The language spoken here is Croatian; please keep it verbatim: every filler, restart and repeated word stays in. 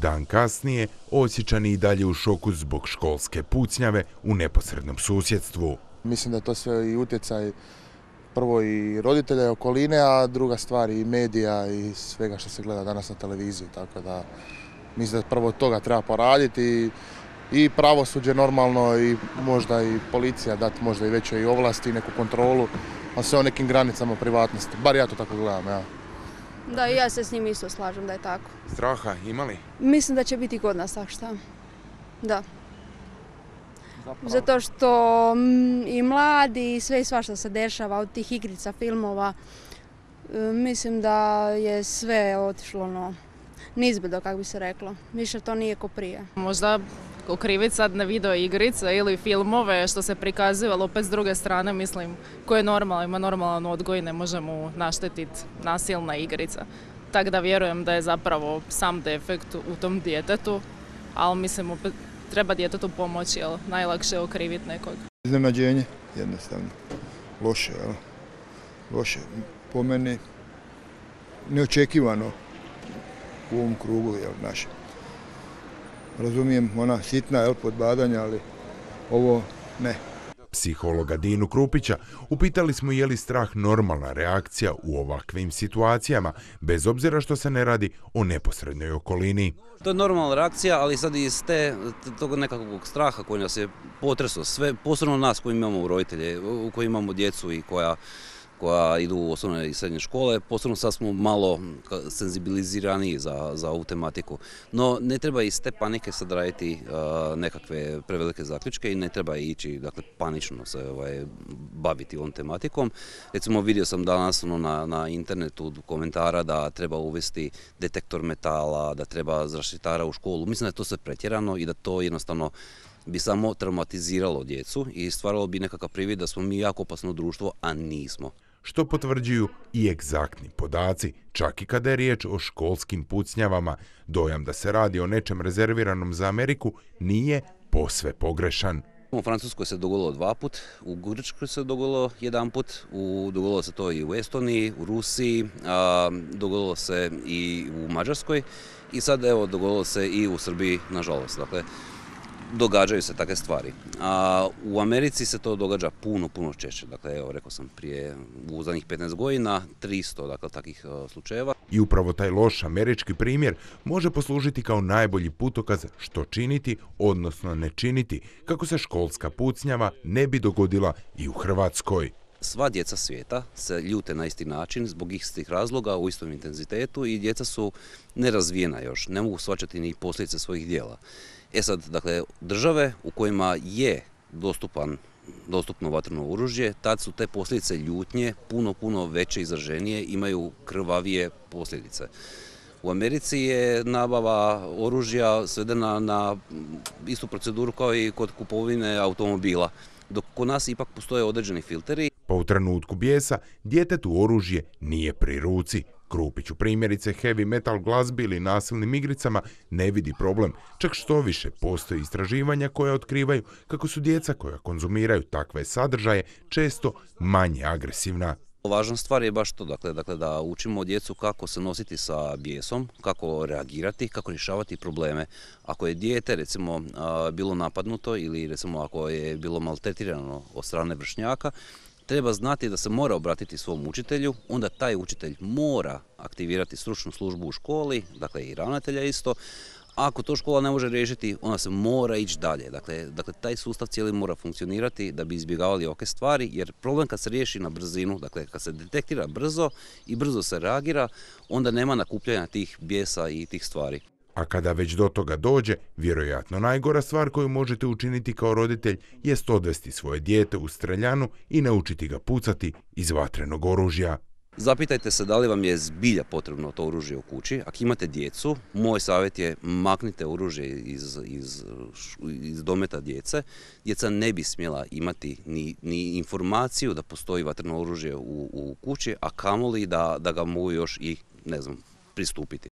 Dan kasnije Osječani i dalje u šoku zbog školske pucnjave u neposrednom susjedstvu. Mislim da je to sve i utjecaj prvo i roditelja i okoline, a druga stvar i medija i svega što se gleda danas na televiziji. Tako da mislim da prvo toga treba poraditi i pravosuđe normalno i možda i policija dati možda i veće i ovlasti i neku kontrolu, a sve o nekim granicama privatnosti. Bar ja to tako gledam, ja. Da, i ja se s njim isto slažem da je tako. Straha imali? Mislim da će biti kod nas tako šta. Da. Zato što i mladi i sve i svašta se dešava od tih igrica, filmova. Mislim da je sve otišlo no, nizbrdo, kako bi se reklo. Više to nije ko prije. Možda okriviti sad na video igrice ili filmove što se prikazuju, ali opet s druge strane mislim ko je normalno, ima normalan odgoj, ne može mu naštetiti nasilna igrica. Tako da vjerujem da je zapravo sam defekt u tom djetetu, ali mislim opet treba djetetu pomoći, jer najlakše je okriviti nekog. Iznenađenje, jednostavno. Loše, jel? Loše. Po meni neočekivano u ovom krugu, jel, našem. Razumijem, ona sitna, jel, podbadanja, ali ovo ne. Psihologa Dinu Krupića upitali smo je li strah normalna reakcija u ovakvim situacijama, bez obzira što se ne radi o neposrednoj okolini. To je normalna reakcija, ali sad iz te, tog nekakvog straha koji nas je potresao, sve, posebno nas koji imamo roditelje, koji imamo djecu i koja koja idu u osnovne i srednje škole, posebno sad smo malo senzibilizirani za, za ovu tematiku. No, ne treba iz te panike sad raditi uh, nekakve prevelike zaključke i ne treba ići, dakle, panično se ovaj, baviti ovom tematikom. Recimo, vidio sam danas ono, na, na internetu komentara da treba uvesti detektor metala, da treba zaštitara u školu. Mislim da je to sve pretjerano i da to jednostavno bi samo traumatiziralo djecu i stvaralo bi nekakav privid da smo mi jako opasno društvo, a nismo. Što potvrđuju i egzaktni podaci, čak i kada je riječ o školskim pucnjavama. Dojam da se radi o nečem rezerviranom za Ameriku nije posve pogrešan. U Francuskoj se dogodilo dva put, u Grčkoj se dogodilo jedan put, u, dogodilo se to i u Estoniji, u Rusiji, a, dogodilo se i u Mađarskoj i sad evo dogodilo se i u Srbiji, nažalost. Dakle, događaju se takve stvari. A u Americi se to događa puno, puno češće. Dakle, evo, rekao sam prije, u zadnjih petnaest godina, tristo dakle, takvih uh, slučajeva. I upravo taj loš američki primjer može poslužiti kao najbolji putokaz što činiti, odnosno ne činiti, kako se školska pucnjava ne bi dogodila i u Hrvatskoj. Sva djeca svijeta se ljute na isti način zbog istih razloga u istom intenzitetu i djeca su nerazvijena još, ne mogu shvaćati ni posljedice svojih djela. E sad, dakle, države u kojima je dostupan, dostupno vatreno oružje, tad su te posljedice ljutnje puno, puno veće i izraženije, imaju krvavije posljedice. U Americi je nabava oružja svedena na istu proceduru kao i kod kupovine automobila, dok kod nas ipak postoje određeni filteri. Pa u trenutku bijesa djetetu oružje nije pri ruci. Krupić u primjerice heavy metal glazbi ili nasilnim igricama ne vidi problem, čak što više postoje istraživanja koja otkrivaju kako su djeca koja konzumiraju takve sadržaje često manje agresivna. Važna stvar je baš to, dakle, dakle da učimo djecu kako se nositi sa bijesom, kako reagirati, kako rješavati probleme. Ako je dijete recimo bilo napadnuto ili recimo ako je bilo maltretirano od strane vršnjaka, treba znati da se mora obratiti svom učitelju, onda taj učitelj mora aktivirati stručnu službu u školi, dakle i ravnatelja isto. Ako to škola ne može riješiti, ona se mora ići dalje. Dakle, dakle, taj sustav cijeli mora funkcionirati da bi izbjegavali ovakve stvari, jer problem kad se riješi na brzinu, dakle kad se detektira brzo i brzo se reagira, onda nema nakupljanja tih bijesa i tih stvari. A kada već do toga dođe, vjerojatno najgora stvar koju možete učiniti kao roditelj jest odvesti svoje dijete u streljanu i naučiti ga pucati iz vatrenog oružja. Zapitajte se da li vam je zbilja potrebno to oružje u kući. Ako imate djecu, moj savjet je maknite oružje iz, iz, iz dometa djece. Djeca ne bi smjela imati ni, ni informaciju da postoji vatreno oružje u, u kući, a kamoli da, da ga mogu još i, ne znam, pristupiti.